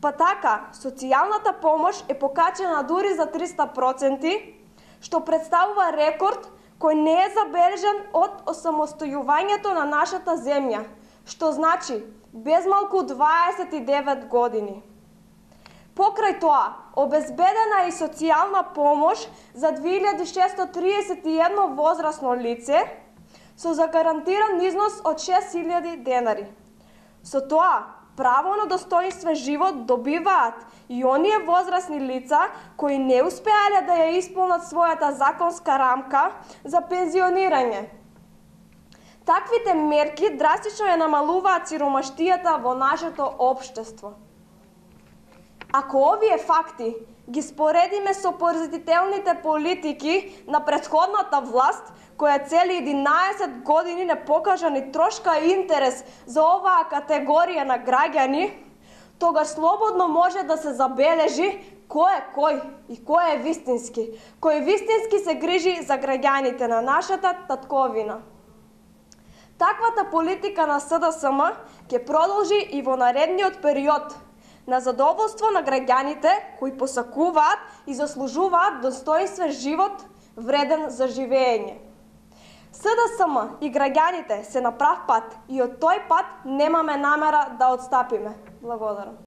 Па така, социјалната помош е покачена дури за 300%, што представува рекорд кој не е забележан од осамостојувањето на нашата земја, што значи безмалку 29 години. Покрај тоа, обезбедена е и социјална помош за 2631 возрасно лице со загарантиран износ од 6000 денари. Со тоа, право на достоинствен живот добиваат и оние возрастни лица кои не успеале да ја исполнат својата законска рамка за пензионирање. Таквите мерки драстично ја намалуваат сиромаштијата во нашето општество. Ако овие факти ги споредиме со поразителните политики на претходната власт, која цели 11 години не покажа ни трошка интерес за оваа категорија на граѓани, тогаш слободно може да се забележи кој е кој и кој е вистински. Кој вистински се грижи за граѓаните на нашата татковина. Таквата политика на СДСМ ќе продолжи и во наредниот период, на задоволство на граѓаните кои посакуваат и заслужуваат достоинствен живот вреден за живење. СДСМ и граѓаните се на прав пат и од тој пат немаме намера да отстапиме. Благодарам.